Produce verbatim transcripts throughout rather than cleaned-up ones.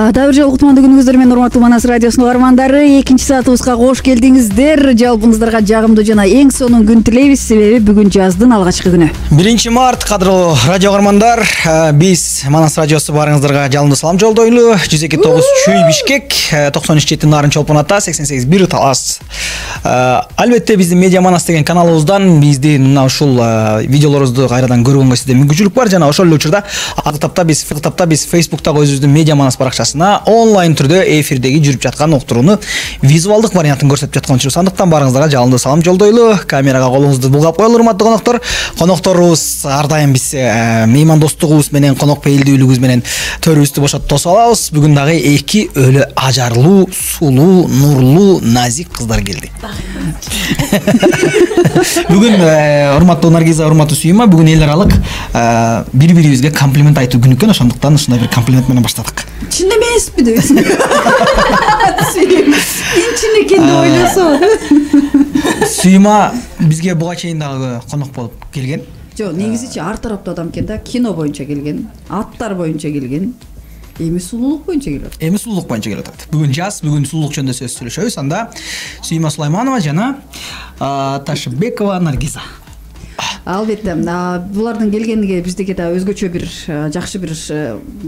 Дабыр жолук кутмандуу күнүңүздөр менен урматтуу Манас радиосунун угармандары, экинчи саатыбызга кош келдиңиздер. Жалпыңыздарга жагымдуу жана эң сонун күн тилейбиз, себеби бүгүн жаздын алгачкы күнү. биринчи март кадырлуу радио угармандар, биз Манас радиосу баарыңыздарга жалындуу салам жолдойлу. жүз эки тогуз Чүй Бишкек, токсон үч жети Нарын Чолпон Ата, сексен сегиз бир Талас. Албетте биздин Медиа Манас деген каналыбыздан биздин мына ушул видеолорубузду кайрадан көргөнгө сизде мүмкүнчүлүк бар. Жана ошол эле учурда ага биз тапта биз Facebook'тагы өзүбүздүн Медиа Манас баракчасына онлайн түрдө эфирдеги жүрүп жаткан уктурууну визуалдык вариантын көрсөтүп жаткан үчүн сандыктан баарыңыздарга жалындуу салам жолдойлу. Камерага колуңузду булгап коелу, урматтуу конокторор. Конокторубуз ар дайым биз меймандостугубуз менен, конокпейилдүүлүгүбүз менен төрүбүздү бошотуп тосуп алабыз. Бүгүн дагы эки өлө ажарлуу, сулуу, нурлуу, назик кыздар келди. Бүгүн урматтуу Наргиза, урматтуу Сүйүма, бүгүн эл аралык бири-бирибизге комплимент айтуу күнү экен, ошондуктан ушундай бир комплимент менен баштадык. Чын эмеспи дейсиң? Чын экен деп ойлосо. Сүйүма бизге буга чейин дагы конок болуп келген. Жок, негизичи ар тараптуу адам экен да, кино боюнча келген, аттар боюнча келген. Эми сулуулук боюнча келет. Эми сулуулук боюнча келет. Бүгүн жаз, бүгүн сулуулук жөнүндө сөз сүйлөшөбүз. Анда Сүйүма Сулайманова жана Ташыбекова Наргиза. Албетте, булардын келгениге биздеги да өзгөчө бир жакшы бир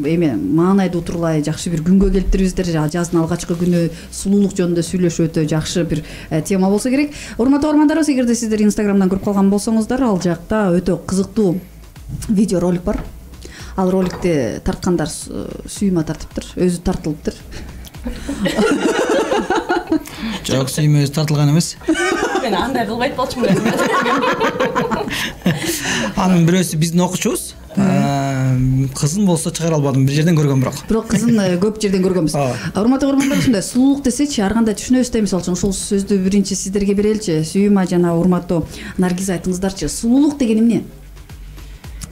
эме маанайда утурлай, жакшы бир күнгө келиптирибиздер. Жаздын алгачкы күнү сулуулук жөнүндө сүйлөшүү өтө жакшы бир тема болсо керек. Урматтуу угармандарыбыз, эгерде сиздер Инстаграмдан көрүп калган болсоңуздар, ал жакта өтө кызыктуу видео ролик бар. Ал роликти тарткандар Сүйүма тартыптыр, өзү тартылыптыр. Жок, Сүйүма өзү тартылган эмес. Мен андай кылбайт болчумун. Анын бирөөсү биздин окуучубуз. Кызын болсо чыгара албадым, бир жерден көргөм бирок. Бирок кызын көп жерден көргөнбүз. Урматтуу угармандар, ушундай сулуулук десечи ар кандай түшүнөбүз да, мисалы үчүн ушул сөздү биринчи сиздерге береличи. Сүйүма жана урматтуу Наргиза, айтыңыздарчы, сулуулук деген эмне?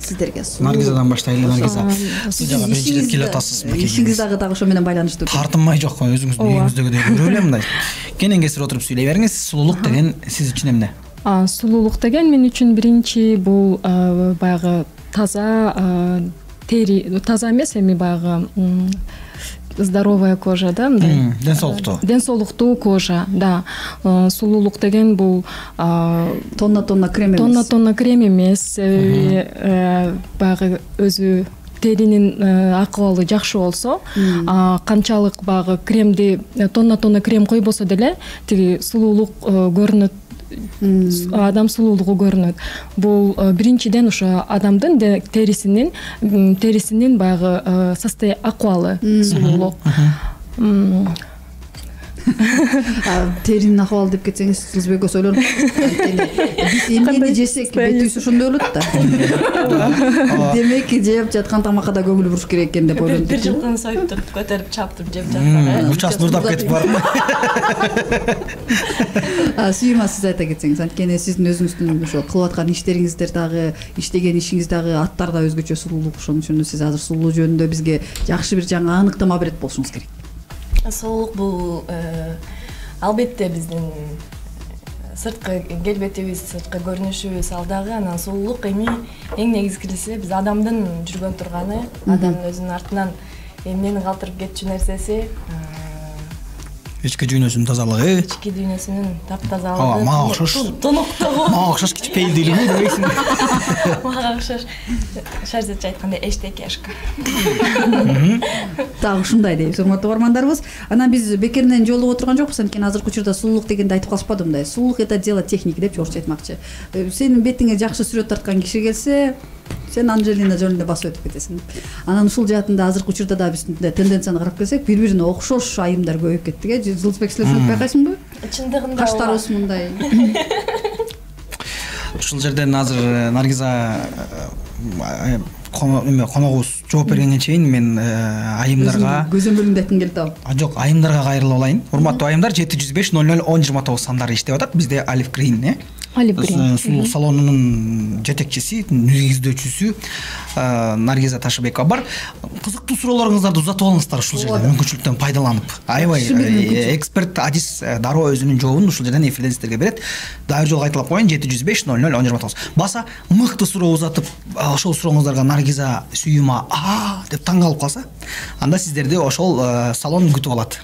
Сиздерге сулуулук. Наргизадан баштайлы, Наргиза. Сиз жана биринчи рет келип атасыз. Ишиңиз дагы дагы ошо менен байланыштуу. Тартынмай жок, өзүңүздүн үйүңүздөгүдөй көрө элем мындай. Кенен кесип отуруп сүйлөй бериңиз. Сулуулук деген сиз үчүн эмне? Сулуулук деген мен үчүн биринчи бул баягы таза тери, таза эмес, эми баягы здоровая кожа да, мындай. Ден соолуктуу. Ден соолуктуу кожа, да. Сулуулук деген бул тонна-тонна крем эмес. Тонна-тонна крем эмес. Баягы өзү теринин акыбалы жакшы болсо, канчалык баягы кремди тонна-тонна крем койбосо деле тиги сулуулук көрүнөт. Адам сулуулугу көрүнөт. Бул биринчиден ошо адамдын терисинин терисинин баягы состояние, акыбалы сулуулук. Теринин акыбалы деп кетсеңиз, сиз бекос ойлонуп биз эмнени жесек бетибиз ошондой болот да. Демек жеп жаткан тамакка да көңүл буруш керек экен деп ойлондум. Бир жылкыны союп туруп, көтөрүп чаптырып жеп жатсак, учас нурдап кетип барып. Сүйүма, сиз айта кетсеңиз, анткени сиздин өзүңүздүн ошо кылып аткан иштериңиздер дагы, иштеген ишиңиз дагы, аттар да өзгөчө сулуулук. Ошон үчүн сиз азыр сулуулук жөнүндө бизге жакшы бир жаңы аныктама берет болушуңуз керек. Сулуулук бул албетте биздин сырткы келбетибиз, сырткы көрүнүшүбүз, ал дагы анан сулуулук эми эң негизгиси биз адамдын жүргөн турганы, адамдын өзүнүн артынан эмнени калтырып кетчү нерсеси, ички дүйнөсүнүн тазалыгы, ички дүйнөсүнүн таптазалыгы, мага окшош, тоноктогу, мага окшош кичпейилдүүлүгү дебейсиң. Мага окшош, шарзатча айтканда эчтекешка. Так, ушундай дейбиз, урматтуу угармандарыбыз. Анан биз бекеринен жолугуп отурган жокпуз, анткени азыркы учурда сулуулук дегенди айтып калышпадым мындай. Сулуулук это дело техники деп орусча айтмакчы. Сенин бетиңе жакшы сүрөт тарткан киши келсе, сен Анжелина Джолине басып өтүп кетесиң. Анан ушул жаатында азыркы учурда да биз тенденцияны карап келсек, бири-бирине окшош айымдар көбөйүп кеттик, э? Жылдызбек, силер ушуну байкайсыңбы? Чындыгында каштарыбыз мындай. Ушул жерден азыр Наргиза коногубуз жооп бергенге чейин мен айымдарга көзөмөлүндү айткым келип атабы? Жок, айымдарга кайрылып алайын. Урматтуу айымдар, жети жүз беш ноль ноль он жыйырма тогуз сандары иштеп атат. Бизде Алиф Green, э? Олив Грин сулуулук салонунун жетекчиси, негиздөөчүсү Наргиза Ташыбекова бар. Кызыктуу суроолоруңуздарды узатып алыңыздар ушул жерден, мүмкүнчүлүктөн пайдаланып. Аябай эксперт Адис Дароо өзүнүн жообун ушул жерден эфирден сиздерге берет. Дагы бир жолу кайталап коеюн: жети жүз беш ноль ноль он жыйырма тогуз. Баса мыкты суроо узатып, ошол сурооңуздарга Наргиза сүйүма а деп таң калып калса, анда сиздерди ошол салон күтүп алат.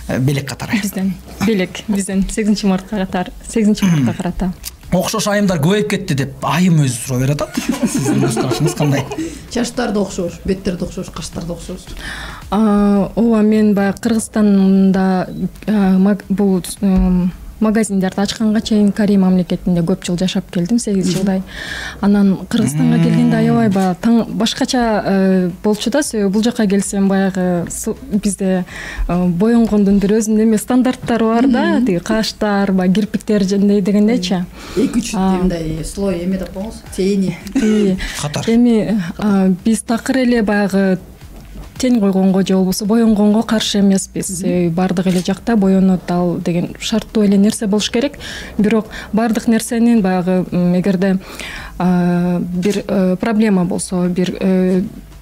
Белек катары. Бизден белек бизден сегизинчи мартка катар, сегизинчи мартка карата. Окшош айымдар көбөйүп кетти деп айым өзү суроо берип атат. Сиздин өз карашыңыз кандай? Чачтар да окшош, беттер да окшош, каштар да окшош. Ооба, мен баягы Кыргызстанда бул магазиндерди ачканга чейин Корей мамлекетинде көп жыл жашап келдим, сегиз жылдай. Анан Кыргызстанга келгенде аябай баягы таң башкача болчу да, себеби бул жака келсем баягы бизде боенгондун бир өзүнүн эме стандарттары бар да, тиги каштар, баягы кирпиктер дегендейчи. эки үч мындай слой эме деп коебуз, тени. Катар. Эми биз такыр эле баягы тень койгонго же болбосо боенгонго каршы эмеспиз. Бардык эле жакта боенот ал деген шарттуу эле нерсе болуш керек. Бирок бардык нерсенин баягы эгерде бир проблема болсо, бир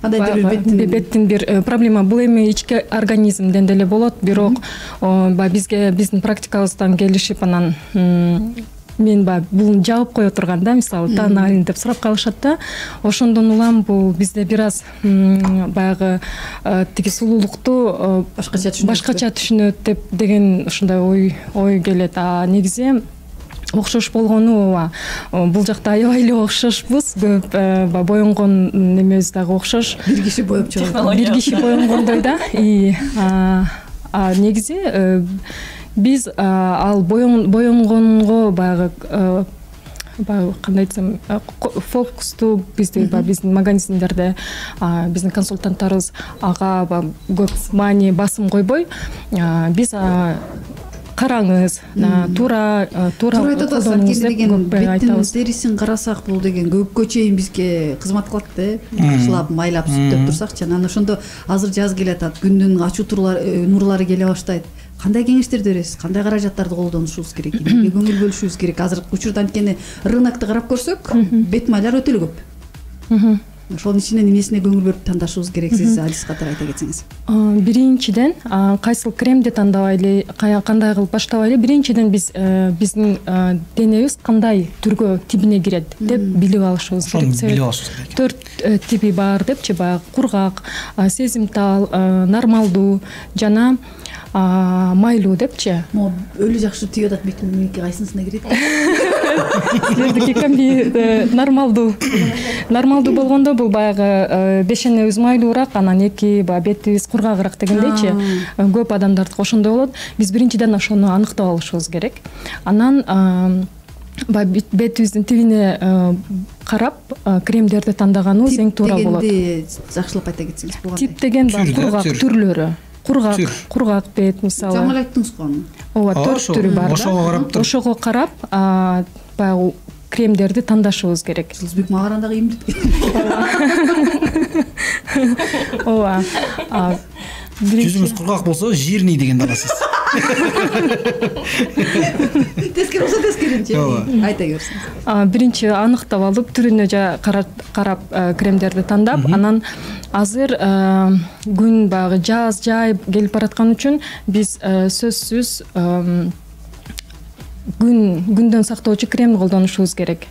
беттин бир проблема, бул эми ички организмден деле болот. Бирок баягы бизге биздин практикабыздан келишип анан мен баягы бул жабып кое турганда, мисалы таан алин деп сурап калышат да, ошондон улам бул бизде бир аз баягы тиги сулуулукту башкача түшүнөт башкача түшүнөт деп деген ушундай ой ой келет. А негизи окшош болгону ооба, бул жакта аябай эле окшошпуз. Көп баягы боенгон немебиз дагы окшош. Бир киши боеп чыгат. Бир киши боенгондой да. А негизи биз ал боенгонго баягы баягы кандай десем, фокусту бизде баягы биздин магазиндерде биздин консультанттарыбыз ага көп маани басым койбой, биз караңыз, туура туура колдонуңуз деп беттин терисин карасак, бул деген көпкө чейин бизге кызмат кылат да, башылап майлап сүттөп турсакчы. Анан ошондо азыр жаз келатат, күндүн ачуу нурлары келе баштайт. Кандай кеңештерди бересиз? Кандай каражаттарды колдонушубуз керек? Эмнеге көңүл бөлүшүбүз керек? Азыркы учурда анткени рынокто карап көрсөк, бет майлар өтө эле көп. Ошонун ичинен эмнесине көңүл бөлүп тандашыбыз керек? Сиз Адис катары айта кетсеңиз. Биринчиден, кайсыл кремди тандабайлы, кандай кылып баштабайлы? Биринчиден биз биздин денебиз кандай түргө, тибине кирет деп билип алышыбыз керек. Билип алышыбыз керек. Төрт тиби бар депчи, баягы кургак, сезимтал, нормалдуу жана майлуу депчи. Могу өлү жакшы тийип атат, бетимдики кайсынысына кирет? Силердики кемби нормалдуу. Нормалдуу болгондо бул баягы бешенебиз майлуураак, анан эки баягы бетибиз кургагыраак дегендейчи. Көп адамдардыкы ошондой болот. Биз биринчиден ошону аныктап алышыбыз керек. Анан баягы бетибиздин тибине карап кремдерди тандаганыбыз эң туура болот. Тип дегенди жакшылап айта кетсеңиз болот. Тип деген баягы кургак түрлөрү. Кургак, кургак бет мисалы. Жаңы эле айттыңыз го аны. Ооба, төрт түрү бар да. Ошого карап туруп. Ошого карап, баягы кремдерди тандашыбыз керек. Жылдызбек мага караганда кыймылдап кетти. Ооба. Жүзүңүз кургак болсо, жирный дегенди аласыз. Тескери болсо тескеринчи. Айта көрсөңүз. Биринчи аныктап алып, түрүнө карап кремдерди тандап, анан азыр күн баягы жаз, жай келип бараткан үчүн биз сөзсүз күн күндөн сактоочу крем колдонушубуз керек.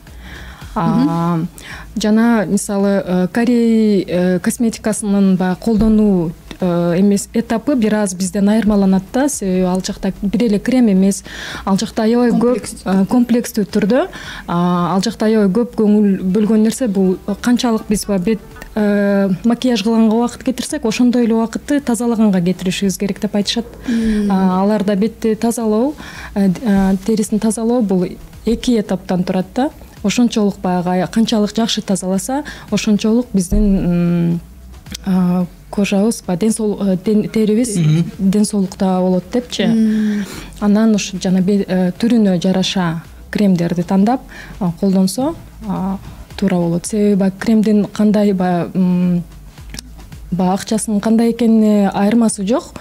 Жана мисалы Корей косметикасынын баягы колдонуу эмес этапы бир аз бизден айырмаланат да, себеби ал жакта бир эле крем эмес, ал жакта аябай көп комплекстүү түрдө, ал жакта аябай көп көңүл бөлгөн нерсе бул канчалык биз бет макияж кылганга убакыт кетирсек, ошондой эле убакытты тазалаганга кетиришибиз керек деп айтышат. Аларда бетти тазалоо, терисин тазалоо бул эки этаптан турат да. Ошончолук баягы канчалык жакшы тазаласа, ошончолук биздин кожабыз, терибиз ден соолукта болот депчи. Анан ошо жана түрүнө жараша кремдерди тандап колдонсо туура болот. Себеби кремдин кандай баягы баягы акчасынын кандай экенине айырмасы жок.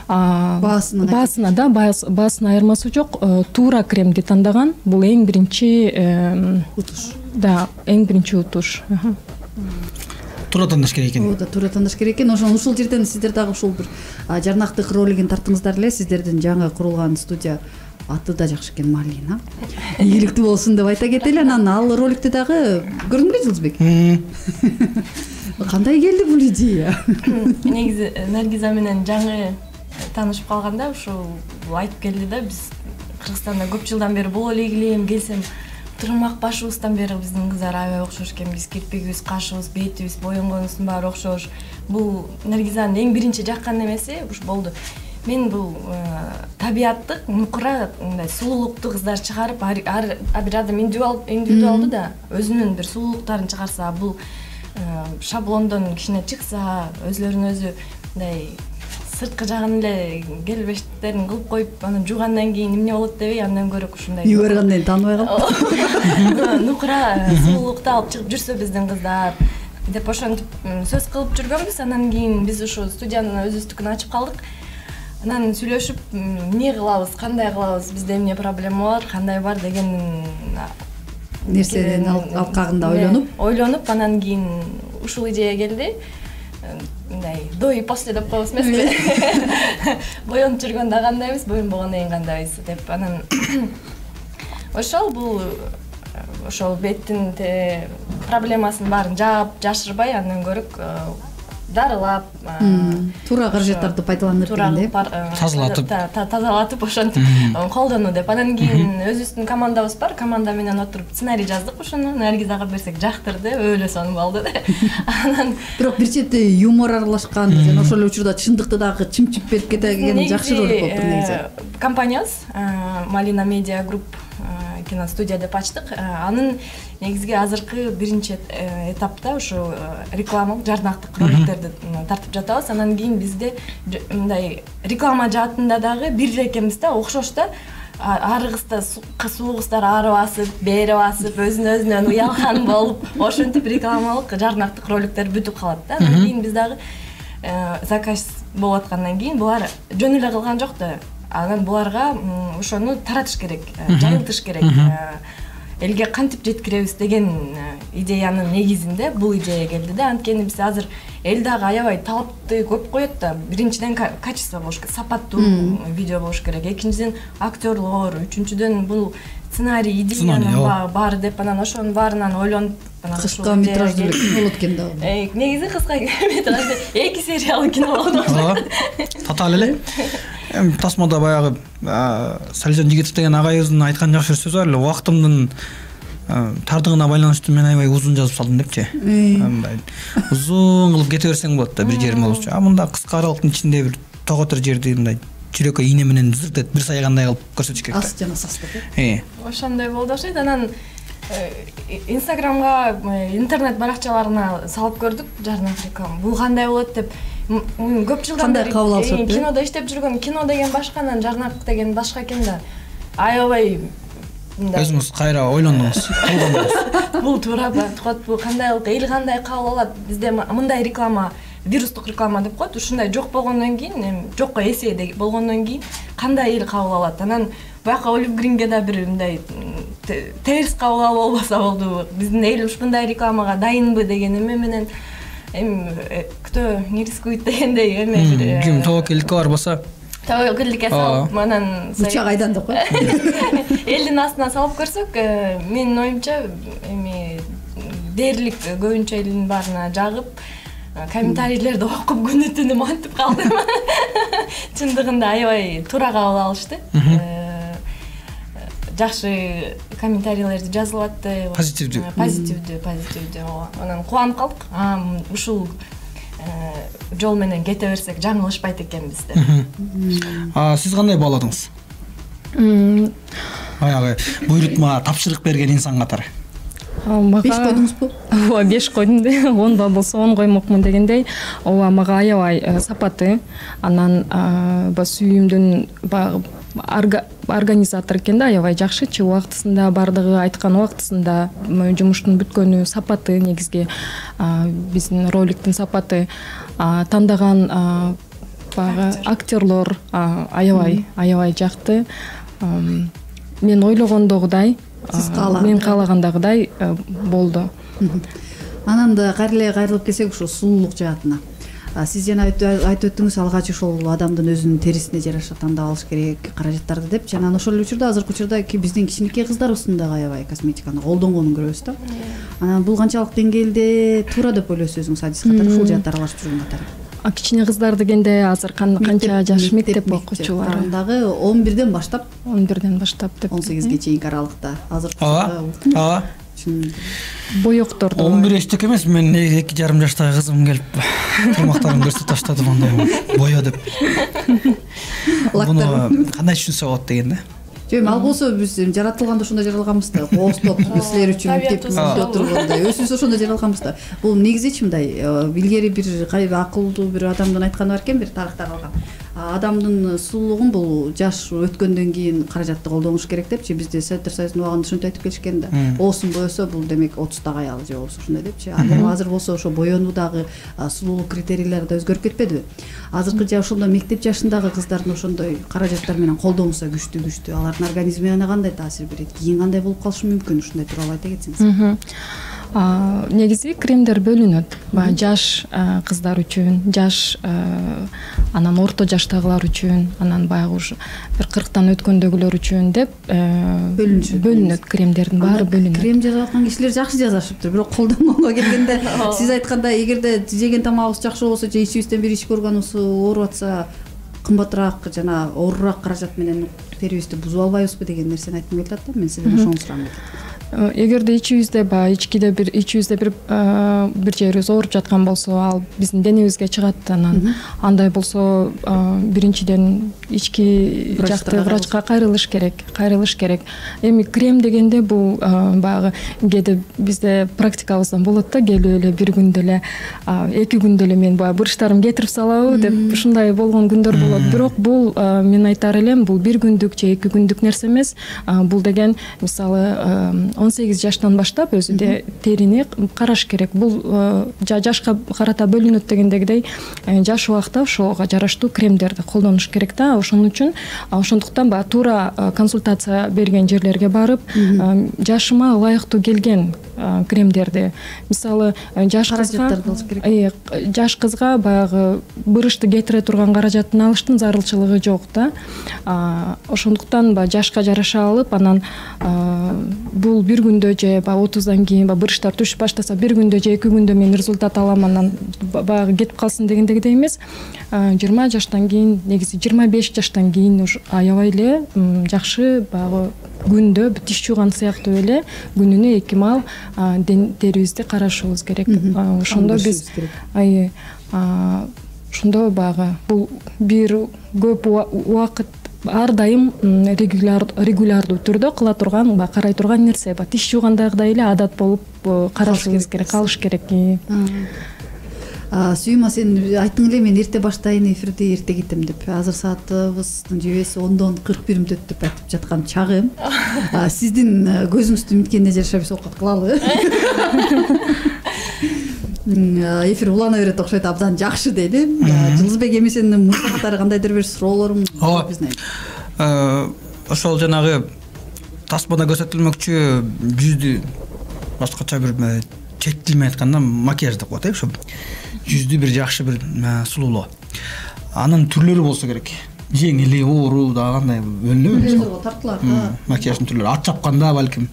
Баасына баасына да баасына айырмасы жок. Туура кремди тандаган. Бул эң биринчи утуш. Да, эң биринчи утуш. Туура тандаш керек экен. Ооба, туура тандаш керек экен. Ошон ушул жерден сиздер дагы ушул бир жарнактык ролигин тартыңыздар эле. Сиздердин жаңы курулган студия аты да жакшы экен, Малина. Ийгиликтүү болсун деп айта кетели. Анан ал роликти дагы көрдүңүзбү, Жылдызбек? Кандай келди бул идея? Негизи Наргиза менен жаңы таанышып калганда ушул айтып келди да, биз Кыргызстанда көп жылдан бери боло эле келем, келсем турмак башыбыздан бери биздин кыздар аябай окшош экенбиз. Кирпигибиз, кашыбыз, бетибиз, боенгонубуздун баары окшош. Бул Наргизанын эң биринчи жаккан эмеси уш болду. Мен бул табияттык, нукура, мындай сулуулукту кыздар чыгарып, ар бир адам индивидуалдуу да өзүнүн бир сулуулуктарын чыгарса, бул шаблондон кичине чыкса, өзлөрүн өзү мындай сырткы жагын эле келбештерин кылып коюп, анан жуугандан кийин эмне болот дебей, андан көрө ушундай үйгө баргандан кийин тааныбай калып нукура сулуулукту алып чыгып жүрсө биздин кыздар деп ошентип сөз кылып жүргөнбүз. Анан кийин биз ушу студиянын өзүбүздүкүн ачып калдык. Анан сүйлөшүп, эмне кылабыз, кандай кылабыз, бизде эмне проблема бар, кандай бар деген нерседен алкагында ойлонуп, ойлонуп, анан кийин ушул идея келди. Мындай до и после деп коебуз эмеспи? Боенуп жүргөндө кандайбыз, боенбогондон кийин кандайбыз деп. Анан ошол бул ошол беттин проблемасын баарын жаап, жашырбай, андан көрөк дарылап, туура каражаттарды пайдаланып деп, тазалатып, тазалатып ошентип колдонуу деп. Анан кийин өзүбүздүн командабыз бар, команда менен отуруп сценарий жаздык ушуну. Наргизага берсек жактырды, өлө сонун болду да. Анан бирок бир чети юмор аралашкан, жана ошол эле учурда чындыкты дагы чымчып берип кетеген жакшы ролик болуптур негизи. Компаниябыз Малина Медиа Групп киностудия деп ачтык. Анын негизги азыркы биринчи этапта ушу рекламалык жарнактык роликтерди тартып жатабыз. Анан кийин бизде мындай реклама жаатында дагы бир эле экенбиз да, окшош да. Арыгызда суугуздар ары басып, бери басып, өзүнө өзүнөн уялган болуп, ошентип рекламалык жарнактык роликтер бүтүп калат да. Анан кийин биз дагы заказ болуп аткандан кийин булар жөн эле кылган жок да. Анан буларга ошону таратыш керек, жайылтыш керек. Элге кантип жеткиребиз деген идеянын негизинде бул идея келди да. Анткени биз азыр эл дагы аябай талапты көп коет да. Биринчиден качество болуш керек, сапаттуу видео болуш керек. Экинчиден актерлор, үчүнчүдөн бул сценарий, идеянын баары деп, анан ошонун баарынан ойлонуп, анан кыска метраждуу болот экен да. Негизи кыска метраждуу эки сериялык кино болду. Татаал эле. Эми тасмада баягы Салижан Жигитов деген агайыбыздын айткан жакшы бир сөзү бар эле. Убактымдын тардыгына байланыштуу мен аябай узун жазып салдым депчи. Мындай узун кылып кете берсең болот да, бир жерим болчу. А мында кыска аралыктын ичинде бир тоготор жерди мындай жүрөккө ийне менен зырт бир сайгандай кылып көрсөтүш керек да. Ас жана састып. Э. Ошондой болду окшойт. Анан Инстаграмга, интернет баракчаларына салып көрдүк жарнак реклама. Бул кандай болот деп көп жылдан бери кабыл алышат. Кинодо иштеп жүргөн, кино деген башка, анан жарнак деген башка экен да. Аябай өзүңүз кайра ойлондуңуз, колдондуңуз. Бул туура бат, бул кандайлык, эл кандай кабыл алат? Бизде мындай реклама, вирустук реклама деп коет. Ушундай жок болгондон кийин, жокко эсе болгондон кийин кандай эл кабыл алат? Анан бияка Олив Гринге да бир мындай терс кабыл алуу болбосо болду. Биздин эл ушундай рекламага дайынбы деген эме менен эми кто не рискует дегендей эме бир ким тобокелдикке барбаса тобокелдикке салып, анан бычак айдан деп коет. Элдин астына салып көрсөк, менин оюмча эми дээрлик көбүнчө элдин баарына жагып, комментарийлерди окуп күнү түнү мантип калдым. Чындыгында аябай туура кабыл алышты. Жакшы комментарийлерди жазылатты. Позитивдүү. Позитивдүү, позитивдүү. Анан кубанып калдык. А, ушул жол менен кете берсек жаңылышпайт экенбиз деп. А, сиз кандай бааладыңыз? Баягы буйрутма, тапшырык берген инсан катары. беш койдуңузбу? Ооба, беш койдум да. он болсо он коймокмун дегендей. Ооба, мага аябай сапаты. Анан ба сүйүмдүн баягы организатор экен да, аябай жакшычы, убактысында бардыгы айткан убактысында жумуштун бүткөнү, сапаты негизги биздин роликтин сапаты. тандаган баягы актерлор аябай аябай жакты. Мен ойлогондогудай, мен каалагандагыдай болду. Анан да кайра эле кайрылып келсек, ушул сулуулук жаатына. Сиз жана айтып өттүңүз, алгач ошол адамдын өзүнүн терисине жараша тандап алыш керек каражаттарды деп. Жана ошол эле учурда азыркы учурда биздин кичинекей кыздарыбыздын дагы аябай косметиканы колдонгонун көрөбүз да. Анан бул канчалык деңгээлде туура деп ойлойсуз өзүңүз, адис катары ушул жаатты аралашып жүргөн катары? Кичине кыздар дегенде азыр канча жаш мектеп окуучулары? Дагы он бирден баштап. он бирден баштап деп. он сегизге чейинки аралыкта. Азыр ооба. Боекторду. он бир эчтеке эмес, мен эки жарым жаштагы кызым келип турмактарын көрсөтүп таштады мындай боё деп. Буну кандай түшүнсө болот деген да. Жөн ал болсо биз жаратылганда ошондой жаралганбыз да. Коостоп силер үчүн мектеп түзүп тургандай. Өзүбүз ошондой жаралганбыз да. Бул негизичи мындай илгери бир акылдуу бир адамдын айтканы бар экен, бир тарыхта калган. Адамдын сулуулугун бул жаш өткөндөн кийин каражатты колдонуш керек депчи. Бизде Советтер Союзунун убагында ушинтип айтып келишкен да. Оосун боесо бул демек отуздагы аял же болбосо ушундай депчи. Ал азыр болсо ошо боёнуудагы сулуулук критерийлери да өзгөрүп кетпедиби? Азыркы жа ошондо мектеп жашындагы кыздардын ошондой каражаттар менен колдонсо күчтүү-күчтүү, алардын организмине кандай таасир берет? Кийин кандай болуп калышы мүмкүн? Ушундай тууралуу айта кетсеңиз. Негизи кремдер бөлүнөт. Баягы жаш кыздар үчүн, жаш анан орто жаштагылар үчүн, анан баягы ушу бир кырктан өткөндөгүлөр үчүн деп бөлүнөт. Кремдердин баары бөлүнөт. Крем жасап аткан кишилер жакшы жазышыптыр, бирок колдонгонго келгенде сиз айткандай, эгерде жеген тамагыбыз жакшы болсо же ичибизден бир ички органыбыз ооруп атса, кымбатыраак жана оорураак каражат менен терибизди бузуп албайбызбы деген нерсени айткым келип атат да. Мен сизден ошону сурагым келет. Эгерде ичибизде баягы ичкиде бир ичибизде бир бир жерибиз ооруп жаткан болсо, ал биздин денебизге чыгат. Анан андай болсо биринчиден ички жакты врачка кайрылыш керек, кайрылыш керек. Эми крем дегенде бул баягы кээде бизде практикабыздан болот да, келип эле бир күндө эле, эки күндө эле мен баягы буручтарымды кетирип салабы деп ушундай болгон күндөр болот. Бирок бул мен айтар элем, бул бир күндүк же эки күндүк нерсе эмес. Бул деген мисалы он сегиз жаштан баштап өзү терини караш керек. Бул жашка карата бөлүнөт дегендегидей, жаш убакта ошого жараштуу кремдерди колдонуш керек да. Ошон үчүн ошондуктан баягы туура консультация берген жерлерге барып, жашыма ылайыктуу келген кремдерди, мисалы жаш кызга жаш кызга баягы бырышты кетире турган каражатын алыштын зарылчылыгы жок да. Ошондуктан баягы жашка жараша алып, анан бул бир күндө же баягы отуздан кийин баягы бырыштар түшүп баштаса, бир күндө же эки күндө мен результат алам, анан баягы кетип калсын дегендегидей эмес. жыйырма жаштан кийин, негизи жыйырма беш жаштан кийин уж аябай эле жакшы баягы күндө тиш жууган сыяктуу эле күнүнө эки маал терибизди карашыбыз керек. Ошондо биз ошондо баягы бул бир көп убакыт ар дайым регулярдуу түрдө кыла турган, карай турган нерсе. Тиш жуугандагыдай эле адат болуп карашыбыз керек, калыш керек. Сүйүма, сен айттың эле, мен эрте баштайын эфирди, эрте кетем деп. Азыр саатыбыздын жебеси ондон кырк бир мүнөт деп айтып жаткан чагым. Сиздин көзүңүздүн миткенине жараша биз окут кылалы. Эфир улана берет окшойт, абдан жакшы дейли. Жылдызбек эмесенин мурдактары кандайдыр бир суроолорум биздин. Ошол жанагы таспада көрсөтүлмөкчү жүздү башкача бир чет тил менен айтканда макияж деп коет, ошо жүздү бир жакшы бир сулуулоо. Анын түрлөрү болсо керек. Жеңили, оору да кандай бөлүнөбү? Тартылат. Макияждын түрлөрү ат чапканда балким.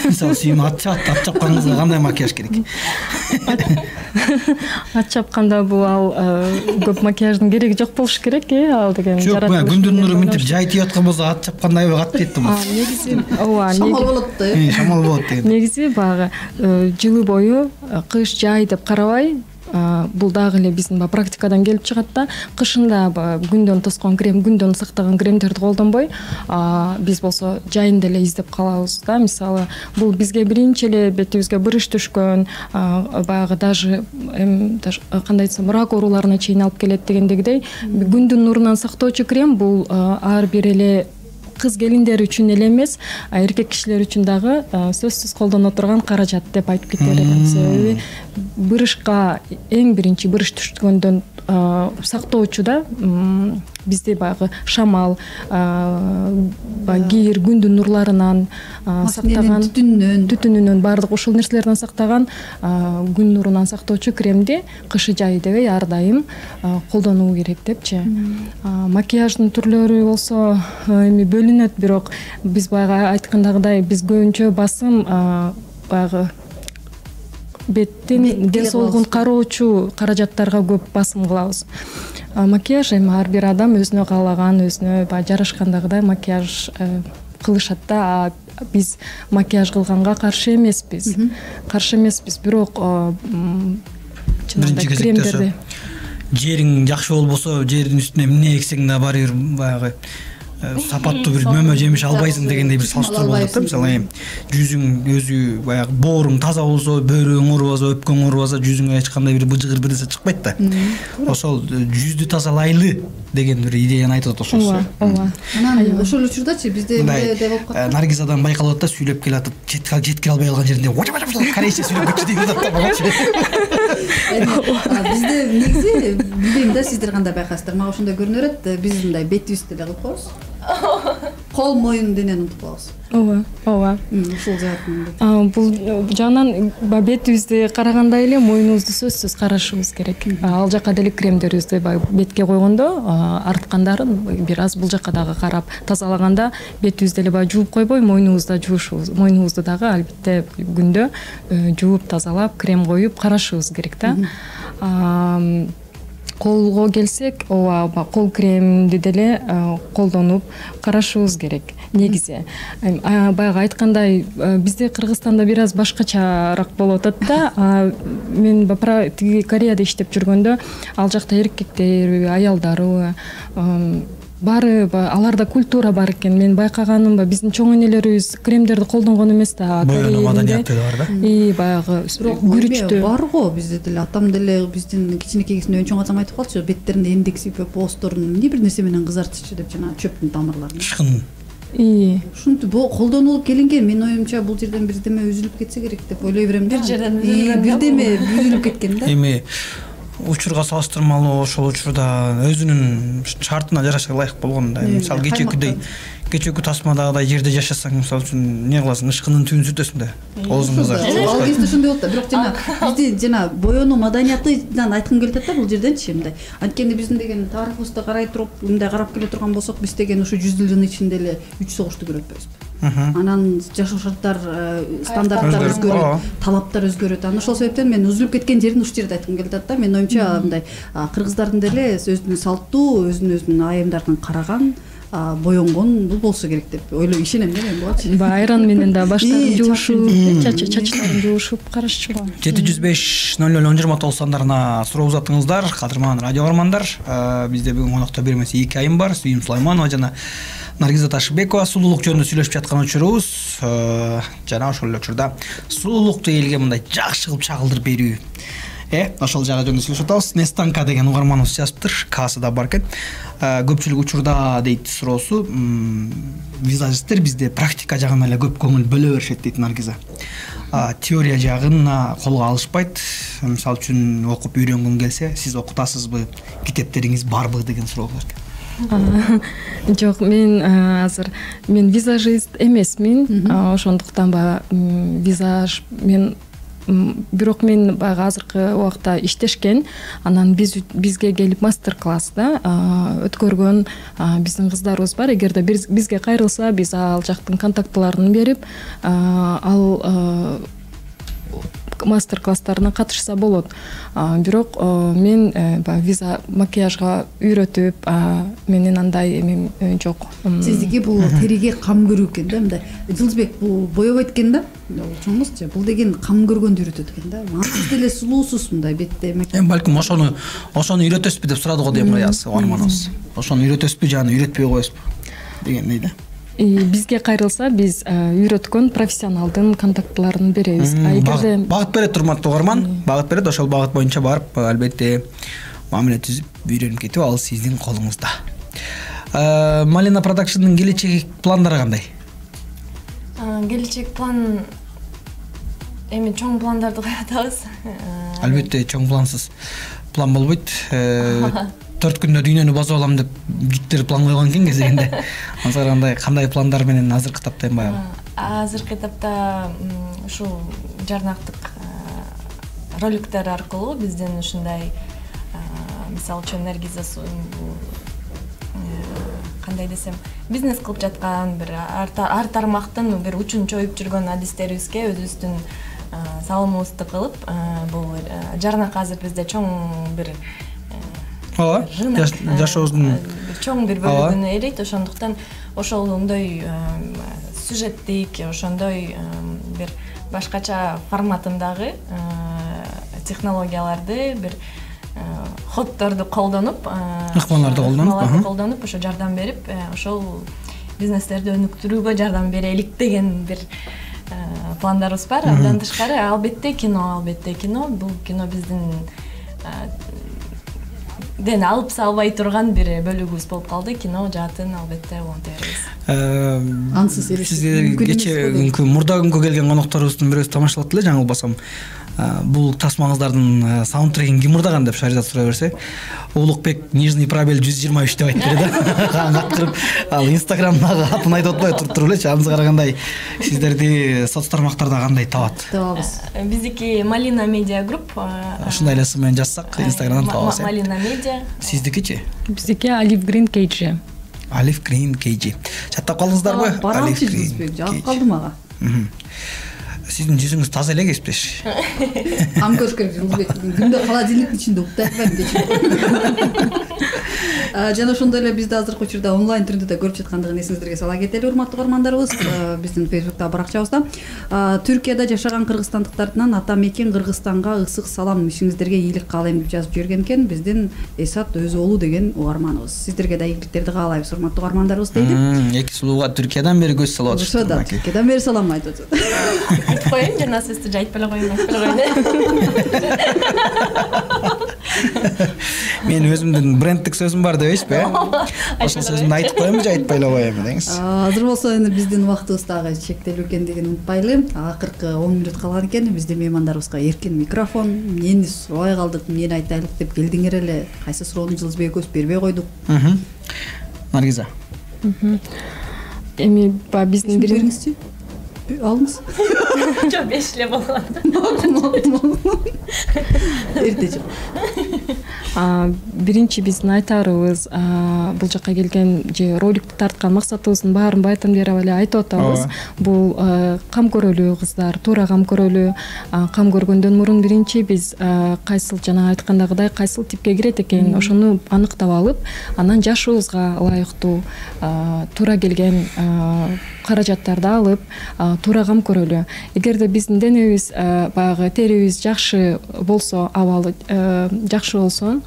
Мисалы сүйүм ат чапат, ат чапканыңызга кандай макияж керек? Ат чапканда бул ал көп макияждын кереги жок болуш керек, э, ал деген жаратылыш. Жок, күндүн нуру мынтип жай тийип аткан болсо ат чапкандай ат кетти бул. Негизи ооба, шамал болот да. Э, шамал болот деген. Негизи баягы жылы бою кыш жай деп карабай, бул дагы эле биздин практикадан келип чыгат да. Кышында күндөн тоскон крем, күндөн сактаган кремдерди колдонбой, биз болсо жайында эле издеп калабыз да. Мисалы, бул бизге биринчи эле бетибизге бырыш түшкөн, баягы даже кандай десем, рак ооруларына чейин алып келет дегендегидей, күндүн нурунан сактоочу крем бул ар бир эле кыз келиндер үчүн эле эмес, эркек кишилер үчүн дагы сөзсүз колдоно турган каражат деп айтып кетер элем. Себеби бырышка эң биринчи бырыш түшкөндөн сактоочу да бизде баягы шамал, кийир, күндүн нурларынан сактаган, түтүнүнөн түтүнүнөн баардык ушул нерселерден сактаган күн нурунан сактоочу кремди кышы жай дебей ар дайым колдонуу керек депчи. Макияждын түрлөрү болсо эми бөлүнөт, бирок биз баягы айткандагыдай биз көбүнчө басым баягы беттин ден соолугун кароочу каражаттарга көп басым кылабыз. Макияж эми ар бир адам өзүнө каалаган, өзүнө баягы жарашкандагыдай макияж кылышат да. Биз макияж кылганга каршы эмеспиз. Каршы эмеспиз, бирок жанагындай кремдерди жериң жакшы болбосо, жердин үстүнө эмне эксең да баары бир баягы сапаттуу бир мөмө жемиш албайсың дегендей бир салыштыруу болот да. Мисалы эми жүзүң өзү баягы бооруң таза болсо, бөөрүң оорубаса, өпкөң оорубаса, жүзүңө эч кандай бир быжыгыр бир нерсе чыкпайт да. Ошол жүздү тазалайлы деген бир идеяны айтып атат ошол. Ооба. Анан ошол учурдачы бизде эмне болуп калат? Наргизадан байкалып атат да, сүйлөп келатып, жеткире албай калган жеринде корейче сүйлөп кетчү деп атат да. Бизде негизи билбейм да, сиздер кандай байкайсыздар, мага ошондой көрүнө берет. Биз мындай бетибизди эле кылып коебуз. Кол, моюн, денени унутуп калабыз. Ооба, ооба. Ушул жаатын. Бул жагынан бетибизди карагандай эле моюнубузду сөзсүз карашыбыз керек. Ал жака деле кремдерибизди бетке койгондо, арткандарын бир аз бул жака дагы карап тазалаганда бетибизди эле баягы жууп койбой, моюнубузду жуушубуз, моюнубузду дагы албетте күндө жууп тазалап, крем коюп карашыбыз керек да. Колго келсек, ооба, кол кремди деле колдонуп карашыбыз керек негизи. Баягы айткандай, бизде Кыргызстанда бир аз башкачараак болуп атат да. Мен тиги Кореяда иштеп жүргөндө, ал жакта эркектер, аялдары баары аларда культура бар экен. Мен байкаганым биздин чоң энелерибиз кремдерди колдонгон эмес да. Боюнуу маданияты бар да. И баягы күрүчтү бар го бизде деле. Атам деле биздин кичинекей кезинде өңчөң атам айтып калчу, беттеринде эндек сыйпап, боосторун эмне бир нерсе менен кызартчу деп, жана чөптүн тамырларын. Ышкын. И ушинтип колдонулуп келинген. Менин оюмча бул жерден бирдеме үзүлүп кетсе керек деп ойлой берем да. Бир жерден бирдеме үзүлүп кеткен да. Эми учурга салыштырмалуу ошол учурда өзүнүн шартына жараша ылайык болгон да. Мисалы кечээкүдөй кечээкү тасмадагыдай жерде жашасаң, мисалы үчүн эмне кыласың? Ышкынын түбүн сүртөсүң да. Оозуңузга. Ал кезде ошондой болот да. Бирок жана бизди жана боюнуу маданиятынан айткым келип атат да, бул жерденчи мындай. Анткени биздин деген тарыхыбызды карай туруп, мындай карап келе турган болсок, биз деген ушу жүз жылдын ичинде эле үч согушту көрүп атпайбызбы? Анан жашоо шарттар, стандарттар өзгөрөт, талаптар өзгөрөт. Анан ошол себептен мен үзүлүп кеткен жерин ушул жерде айткым келип атат да. Менин оюмча мындай кыргыздардын деле өзүнүн салттуу, өзүнүн айымдарын караган, боенгон бул болсо керек деп ойлойм, ишенем да мен булачы. Айран менен да баштарын жуушуп, чачтарын жуушуп карашчу. жети жүз беш ноль ноль он жыйырма тогуз сандарына суроо узаттыңыздар, кадырман радио көрөрмандар. Бизде бүгүн конокто бир эмес эки айым бар, Сүйүм Сулайманова жана Наргиза Ташыбекова. Сулуулук жөнүндө сүйлөшүп жаткан учурубуз жана ошол эле учурда сулуулукту элге мындай жакшы кылып чагылдырып берүү. Э, ошол жагы жөнүндө сүйлөшүп атабыз. Нестанка деген угарманыбыз жазыптыр, касы да бар экен. Көпчүлүк учурда дейт суроосу, визажисттер бизде практика жагына эле көп көңүл бөлө беришет дейт Наргиза. Теория жагына колго алышпайт. Мисалы үчүн окуп үйрөнгүң келсе, сиз окутасызбы, китептериңиз барбы деген суроо бар экен. Жок, мен азыр мен визажист эмесмин, ошондуктан ба визаж мен бирок мен баягы азыркы убакта иштешкен, анан биз бизге келип мастер-класс да өткөргөн биздин кыздарыбыз бар. Эгерде бизге кайрылса, биз ал жактын контактларын берип, ал мастер-класстарына катышса болот. Бирок мен виза макияжга үйрөтүп, менин андай эмем жок. Сиздики бул териге кам көрүү экен да, мындай. Жылдызбек бул боебойт экен да. Чоңузчу, бул деген кам көргөндү үйрөтөт экен да. Сиз деле сулуусуз мындай бетте. Эми балким ошону ошону үйрөтөсүзбү деп сурады го дейм аяз угарманыбыз. Ошону үйрөтөсүзбү жана үйрөтпөй коесузбу дегендей да. Бизге кайрылса, биз үйрөткөн профессионалдын контактларын беребиз. Эгерде багыт берет урматтуу угарман, багыт берет, ошол багыт боюнча барып, албетте мамиле түзүп, үйрөнүп кетип, ал сиздин колуңузда. Malina Production'дын келечек пландары кандай? Келечек план эми чоң пландарды коюп атабыз. Албетте чоң плансыз план болбойт. төрт күндө дүйнөнү басып алам деп життер план койгон экен кезегинде. Ансыга кандай кандай пландар менен азыркы этапта эми баягы? Азыркы этапта ушул жарнактык роликтер аркылуу бизден ушундай мисалы үчүн Наргиза кандай десем бизнес кылып жаткан бир ар тармактын бир учун чоюп жүргөн адистерибизге өзүбүздүн салымыбызды кылып бул жарнак азыр бизде чоң бир ооба жашообуздун чоң бир бөлүгүн ээлейт. Ошондуктан ошондой сюжеттик ошондой бир башкача форматындагы технологияларды бир ходдорду колдонуп ыкмаларды колдонуп колдонуп ошо жардам берип ошол бизнестерди өнүктүрүүгө жардам берелик деген бир пландарыбыз бар. Андан тышкары албетте кино албетте кино бул кино биздин ден алып салбай турган бир бөлүгүбүз болуп калды. Кино жаатын албетте уланта беребиз. Ансыз сизге кечээ мурда күнгө келген конокторубуздун бирөөсү тамашалап эле жаңылбасам. Бул тасмаңыздардын саундтрегин ким мурдаган деп Шаризат сурай берсе, Улукбек Нижний пробел жүз жыйырма үч деп айтып берди. Каткырып, ал Инстаграмдагы атын айтып атпай туруп элечи. Анысы карагандай сиздерди соц тармактарда кандай табат? Табабыз. Биздики Malina Media Group. Ушундай эле сын менен жазсак, Инстаграмдан табабыз. Malina Media. Сиздикичи? Биздики Olive Green кей джи. Olive Green кей джи. Чаттап калдыңыздарбы? Olive Green. Жагып калды мага. Сиздин жүзүңүз таза эле кесиптеш. Ам көрүш керек Жылбек. Күндө холодильниктин ичинде уктап атпайм. Жана ошондой эле бизди азыркы учурда онлайн түрүндө да көрүп жаткандыгын эсиңиздерге сала кетели, урматтуу көрөрмандарыбыз. Биздин Facebook'та баракчабызда Түркияда жашаган кыргызстандыктардан ата мекен Кыргызстанга ысык салам, ишиңиздерге ийгилик каалайм деп жазып жүргөн экен биздин Эсат Өзоолу деген угарманыбыз. Сиздерге да ийгиликтерди каалайбыз, урматтуу көрөрмандарыбыз дейт. Эки сулууга Түркиядан бери көз салып атышты. Ошо да Түркиядан бери салам айтып атат. Айтып коеюн, жана сизди айтып эле коеюн, айтып эле коеюн. Мен өзүмдүн брендтик сөзүм бар дебейсизби? Ошол сөзүмдү айтып коемби же айтпай эле коемби деңиз? Азыр болсо эми биздин убактыбыз дагы чектелүү экендигин унутпайлы. Акыркы он мүнөт калган экен. Биздин меймандарыбызга эркин микрофон, эмнени сурабай калдык, эмнени айтайлык деп келдиңер эле. Кайсы суроону Жылбек экөөбүз бербей койдук. Наргиза. Эми ба биздин бериңизчи. Алыңыз. Жок, беш эле болгон. Эртечи. Биринчи биздин айтарыбыз бул жака келген же роликти тарткан максатыбыздын баарын байтан бери эле айтып атабыз. Бул кам көрөлүү кыздар, туура кам көрөлүү. Кам көргөндөн мурун биринчи биз кайсыл жана айткандагыдай кайсыл типке кирет экен, ошону аныктап алып, анан жашыбызга ылайыктуу туура келген каражаттарды алып, туура кам көрөлү. Эгерде биздин денебиз баягы терибиз жакшы болсо, абалы жакшы болсо,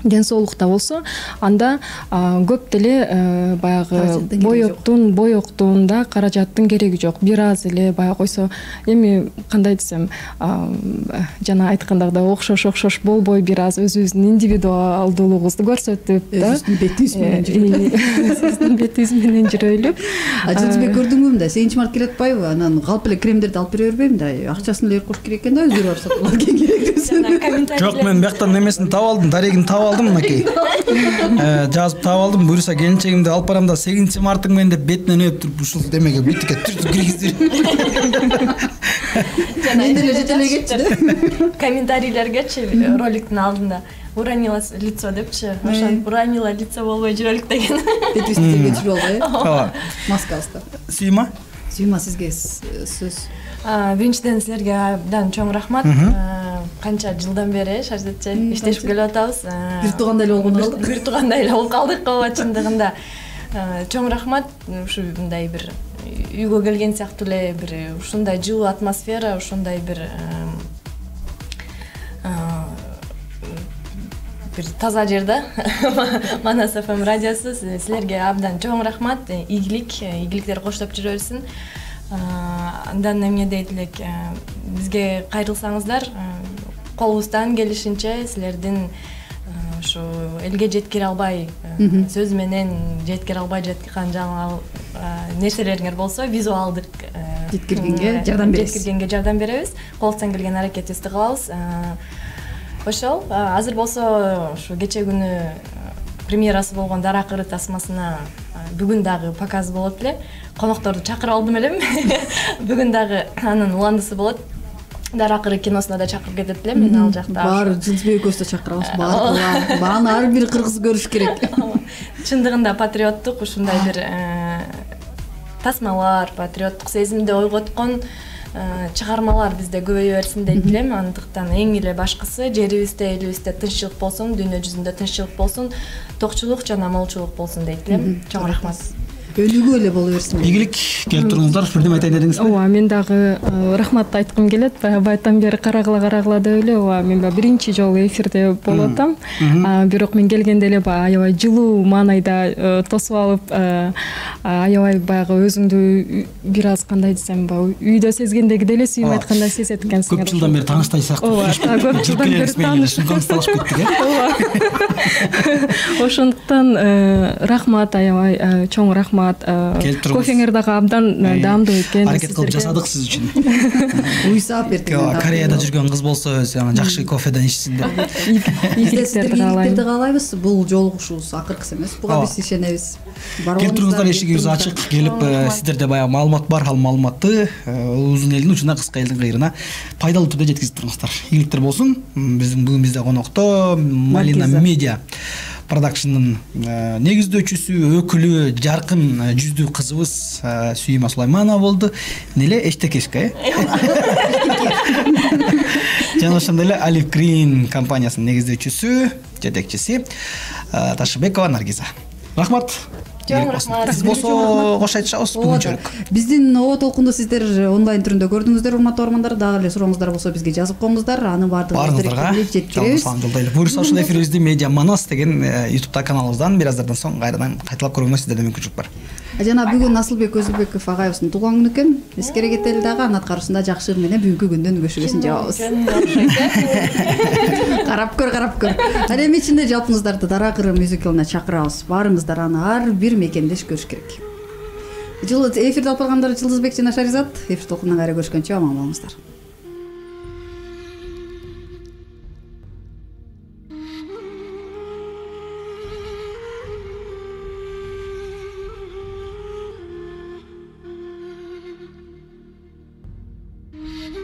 ден соолукта болсо, анда көп деле баягы боектун, боектуунда каражаттын кереги жок. Бир аз эле баягы койсо, эми кандай десем, жана айткандагыдай окшош окшош болбой бир аз өзүбүздүн индивидуалдуулугубузду көрсөтүп, да, өзүбүздүн бетибиз менен жүрөйлү. Өзүбүздүн бетибиз менен жүрөйлү. Жылбек көрдүңбү да, сегизинчи март келип атпайбы? Анан калп эле кремдерди алып бере бербейм да. Акчасын эле кош керек экен да, өздөрү барып сатып алып келген керек. Жок, мен бияктан немесин таап алдым, дарегин таап алдым мынакей. Жазып таап алдым, буюрса келинчегимди алып барам да сегизинчи марттың мен деп бетинен өп туруп ушул демеге битикке түртүп киргиздир. Мен деле жете эле кетчи да. Комментарийлергечи роликтин алдында уронила лицо депчи. Ошон уронила лицо болбой жүрөлүк деген. Бетибизди жүрүп албай. Ооба. Маскабызда. Сүйма? Сүйма, сизге сөз. Биринчиден силерге абдан чоң рахмат. Канча жылдан бери Шаризатчы иштешип келип атабыз. Бир туугандай эле болгон калдык. Бир туугандай эле болуп калдык ооба, чындыгында. Чоң рахмат. Ушу мындай бир үйгө келген сыяктуу эле бир ушундай жылуу атмосфера, ушундай бир бир таза жерде Манас эф эм радиосу. Силерге абдан чоң рахмат. Ийгилик, ийгиликтер коштоп жүрө берсин. Андан эмне дейт элек, бизге кайрылсаңыздар, колубуздан келишинче силердин ушу элге жеткире албай, сөз менен жеткире албай жаткан жаңы нерселериңер болсо визуалдык жеткиргенге жардам беребиз. Жеткиргенге жардам беребиз. Колдон келген аракетибизди кылабыз. Ошол азыр болсо ушу кече күнү премьерасы болгон Дара кыры тасмасына бүгүн дагы показ болот эле. Конокторду чакырып алдым элем. Бүгүн дагы анын уландысы болот. Дара кыры киносуна да чакырып кетет элем. Мен ал жакта баары Жылдызбек экөөбүз да чакырабыз. Баары бааны ар бир кыргыз көрүш керек. Чындыгында патриоттук ушундай бир тасмалар, патриоттук сезимди ойготкон чыгармалар бизде көбөйө берсин дейт элем. Андыктан эң эле башкысы жерибизде, элибизде тынччылык болсун, дүйнө жүзүндө тынччылык болсун, токчулук жана молчулук болсун дейт элем. Чоң рахмат. Өнүгүү эле боло берсин. Ийгилик, келип туруңуздар. Бирдеме айтайын дедиңизби? Ооба, мен дагы рахмат айткым келет. Баягы бери карагыла карагыла деп эле, ооба, мен баягы биринчи жолу эфирде болуп атам. Бирок мен келгенде эле баягы аябай жылуу маанайда тосуп алып, аябай баягы өзүңдү бир аз кандай десем, баягы үйдө сезгендеги эле сүйүп айткандай сезет экенсиңер. Көп жылдан бери тааныштай сыяктуу. Ооба, көп жылдан бери таанышып кеттик, э? Ошондуктан рахмат, аябай чоң рахмат. Кофеңер дагы абдан даамдуу экен. Аракет кылып жасадык сиз үчүн. Уйсап бердик. Кореяда жүргөн кыз болсо өзү жакшы кофеден ичсин деп. Ийгиликтерди каалайм. каалайбыз. Бул жолугушуубуз акыркысы эмес. Буга биз ишенебиз. Келип туруңуздар, эшигибиз ачык. Келип сиздерде баягы маалымат бар, ал маалыматты узун элдин учуна, кыска элдин кыйрына пайдалуу түрдө жеткизип туруңуздар. Ийгиликтер болсун. Биздин бүгүн бизде конокто Малина Медиа продакшндын негиздөөчүсү, өкүлү, жаркын жүздүү кызыбыз Сүйүма Сулайманова болду. Неле Эчтекешка, э? Жана ошондой эле Алиф Green компаниясынын негиздөөчүсү, жетекчиси Ташыбекова Наргиза. Рахмат. Чоң рахмат. Сиз болсо кош айтышабыз бүгүнчөлүк. Биздин Оо толкунду сиздер онлайн түрүндө көрдүңүздөр, урматтуу угармандар. Дагы эле сурооңуздар болсо бизге жазып коюңуздар. Анын баардыгын жеткиребиз. Салам жолдойлу. Буюрса ушул эфирибизди Медиа Манас деген YouTube каналыбыздан бир аздардан соң кайрадан кайталап көрүүгө сиздерде мүмкүнчүлүк бар. Жана бүгүн Асылбек Өзүлбеков агайыбыздын туулган күнү экен. Эскере кетели дагы анын аткаруусунда жакшы менен бүгүнкү күндүн көшүгөсүн жабабыз. Карап көр, карап көр. Ал эми ичинде жалпыңыздарды Дара кыры мюзиклына чакырабыз. Баарыңыздар аны ар бир мекендеш көрүш керек. Жылы эфирде алып баргандар Жылдызбек жана Шаризат. Эфир толкунунан кайра көрүшкөнчө аман болуңуздар. Mm-hmm.